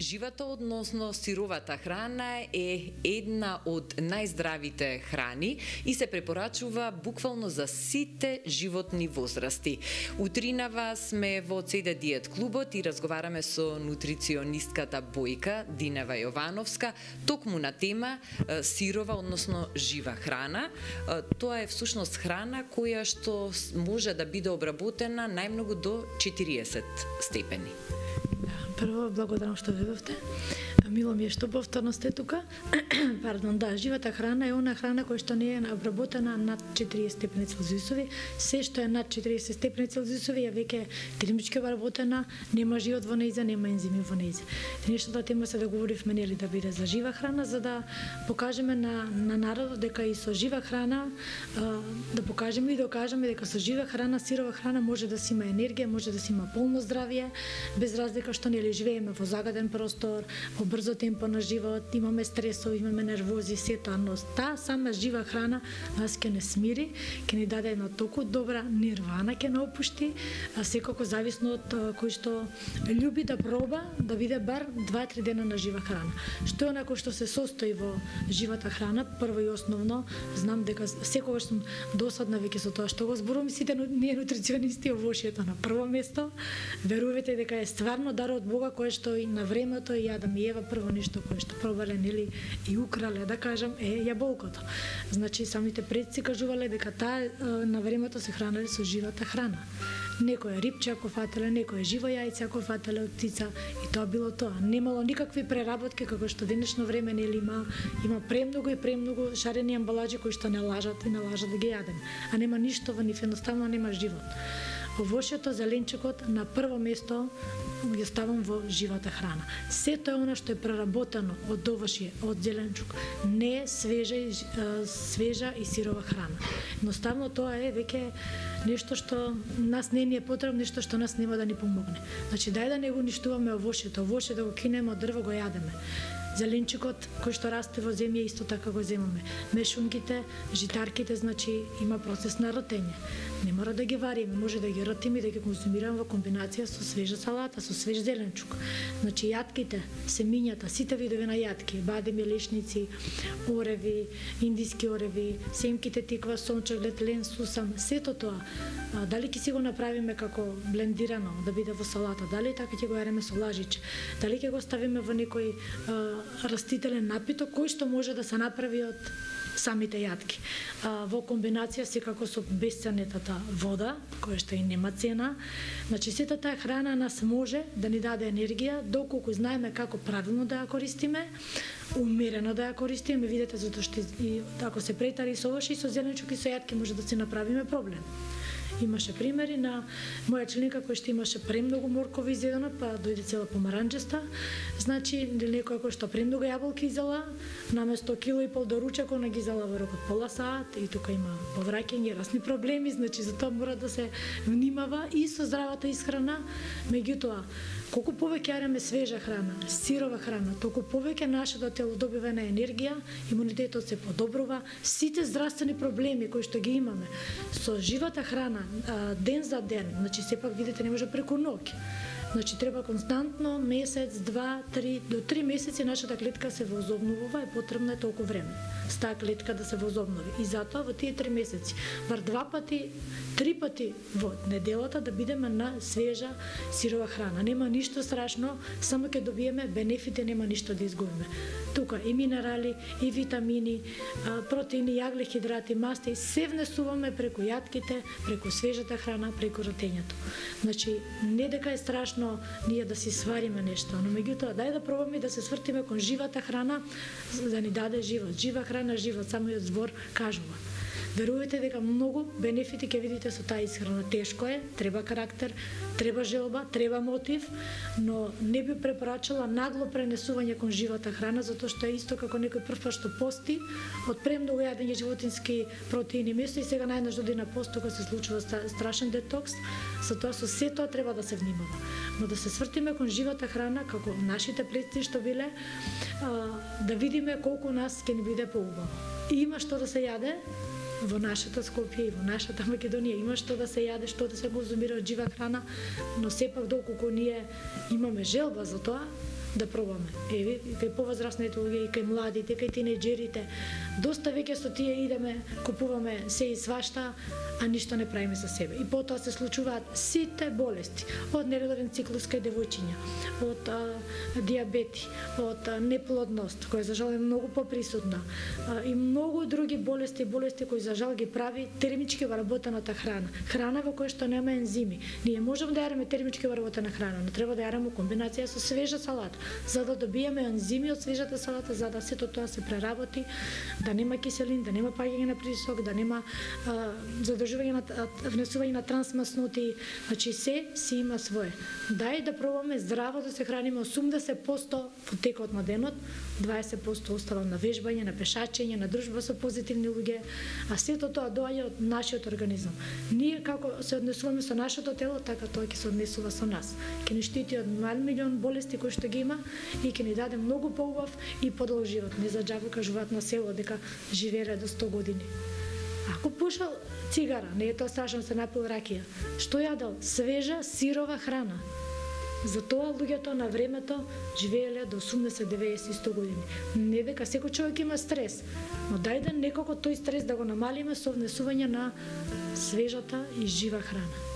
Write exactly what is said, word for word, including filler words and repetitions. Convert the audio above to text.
Живата, односно сировата храна е една од најздравите храни и се препорачува буквално за сите животни возрасти. Утринава сме во Цеде Диет клубот и разговараме со нутриционистката Бојка Динева Јовановска токму на тема сирова, односно жива храна. Тоа е всушност храна која што може да биде обработена најмногу до четириесет степени. Прво, благодарам што дојдовте. Мило ми е што повторно сте тука. Пардон, да, живата храна е она храна која што не е обработена над четириесет степени Целзиусови. Се што е над четириесет степени Целзиусови е веќе термички обработена, нема живот во нејза, нема ензими во нејза. Денешната тема се да говоривме нели да биде за жива храна, за да покажеме на на народот дека и со жива храна да покажеме и докажеме дека со жива храна, сирова храна може да си има енергија, може да си има полно здравје, без разлика што нели живееме во загаден простор, во брзо темпо на живот, имаме стресови, имаме нервози, сето, но таа сама жива храна нас ќе не смири, ќе ни даде една толку добра нирвана, ќе не опушти, а секако зависно од кој што љуби да проба, да биде бар два-три дена на жива храна. Што е онако што се состои во живата храна? Прво и основно, знам дека секогаш сум досадна веќе со тоа што го зборувам, сите ние нутриционисти овошјето на прво место. Верувате дека е стварно дар од Бога кој што и на времето и Адам и Ева прво нешто кое што пробале нели и украле, да кажам, е јаболкото. Значи самите предци кажувале дека таа на времето се хранеле со живата храна. Некој рипче ако фателе, некој живо јајце ако фателе од птица и тоа било тоа. Немало никакви преработки како што денешно време нели има, има премногу и премногу шарени амбалаџи кои што не лажат и не лажат да ги јадеме. А нема ништо во нив, едноставно нема живот. Овошјето, зеленчукот на прво место ја ставам во живата храна. Сето е она што е преработено од овошје, од зеленчук, не е свежа и, свежа и сирова храна. Едноставно тоа е веќе нешто што нас не ни е потребно, нешто што нас нема да ни помогне. Значи дај да не го уништуваме овошјето, овошје да го кинеме од дрво го јадеме. Зеленчукот кој што расте во земја исто така го земаме. Мешунките, житарките, значи има процес на ротење. Не мора да ги вариме, може да ги ротиме и да ги консумираме во комбинација со свежа салата, со свеж зеленчук. Значи јатките, семињата, сите видови на јатки, бадеми, лешници, ореви, индиски ореви, семките тиква, сончеглед, лен, сусам, сето тоа. А, дали ќе си го направиме како блендирано да биде во салата, дали така ќе го јареме со лажиче, дали ќе го ставиме во некој а, растителен напиток кој што може да се направи од самите јатки. А, во комбинација секако со бесценетата вода, која што и нема цена. Значи сета таа храна нас може да ни даде енергија доколку знаеме како правилно да ја користиме, умерено да ја користиме, видите, затоа што и ако се претари со овош и со зеленчук и со јатки може да си направиме проблем. Имаше примери на моја членка кој што имаше премногу моркови изедено, па дојде цела помаранџеста. Значи, некој кој што премногу јаболки изела, наместо кило и пол до ручек, она ги изела во рокот пола саат и тука има повраќање, разни проблеми, значи за тоа мора да се внимава и со здравата исхрана. Меѓутоа, колку повеќе јадеме свежа храна, сирова храна, толку повеќе нашето тело добива на енергија, имунитетот се подобрува, сите здравствени проблеми кои што ги имаме со живата храна ден за ден, значи сепак видите не може преку ноќ. Значи треба константно месец, два, три, до три месеци нашата клетка се возобновува и потребно е толку време с таа клетка да се возобнови. И затоа во тие три месеци, бар два пати, три пати во неделата да бидеме на свежа сирова храна. Нема ништо страшно, само ќе добиеме бенефити, нема ништо да изгубиме. Тука и минерали, и витамини, протеини, јаглехидрати, масти, се внесуваме преку јатките, преку свежата храна, преку ротењето. Значи, не дека е страшно ние да си свариме нешто, но меѓутоа дај да пробаме да се свртиме кон живата храна за да ни даде живот. Жива храна, живот, самиот збор кажува. Верувате дека многу бенефити ќе видите со таа исхрана. Тешко е, треба карактер, треба желба, треба мотив, но не би препорачала нагло пренесување кон живата храна, затоа што е исто како некој прв што пости, од премногу јадење животински протеини место и сега најнаш доди на пост, кога се случува страшен детокс, затоа со се тоа треба да се внимава. Но да се свртиме кон живата храна, како нашите предци што биле, да видиме колку нас ќе ни биде поубаво. И има што да се јаде, во нашата Скопје и во нашата Македонија има што да се јаде, што да се конзумира од жива храна, но сепак доколку ние имаме желба за тоа, да пробаме. Еве, кај повозрасните луѓе, и кај младите, кај тинеџерите, доста веќе со тие идеме, купуваме се и свашта, а ништо не правиме за себе. И потоа се случуваат сите болести, од нередовен циклус кај девојчиња, од а, диабети, од а, неплодност, која за жал е многу поприсутна, а, и многу други болести, болести кои за жал ги прави термички вработената храна. Храна во која што нема ензими. Ние можеме да јадеме термички вработена храна, но треба да јадеме комбинација со свежа салата, за да добиеме ензими од свежата салата, за да сето тоа се преработи, да нема киселин, да нема паѓање на притисок, да нема а, задржување на внесување на трансмасноти, значи се си има свое. Дај да пробаме здраво да се храниме, осумдесет проценти во текот на денот, дваесет проценти остава на вежбање, на пешачење, на дружба со позитивни луѓе, а сето тоа доаѓа од нашиот организам. Ние како се однесуваме со нашето тело, така тоа ќе се однесува со нас. Ќе ни штити од милион болести кои што ги има и ќе ни даде многу поубав и подолг живот. Не за џабо кажуваат на село дека живееле до сто години. Ако пушал цигара, не е тоа страшно, се напил ракија. Што јадел? Свежа, сирова храна. Затоа луѓето на времето живееле до осумдесет, деветдесет, сто години. Не дека секој човек има стрес, но дај да некако тој стрес да го намалиме со внесување на свежата и жива храна.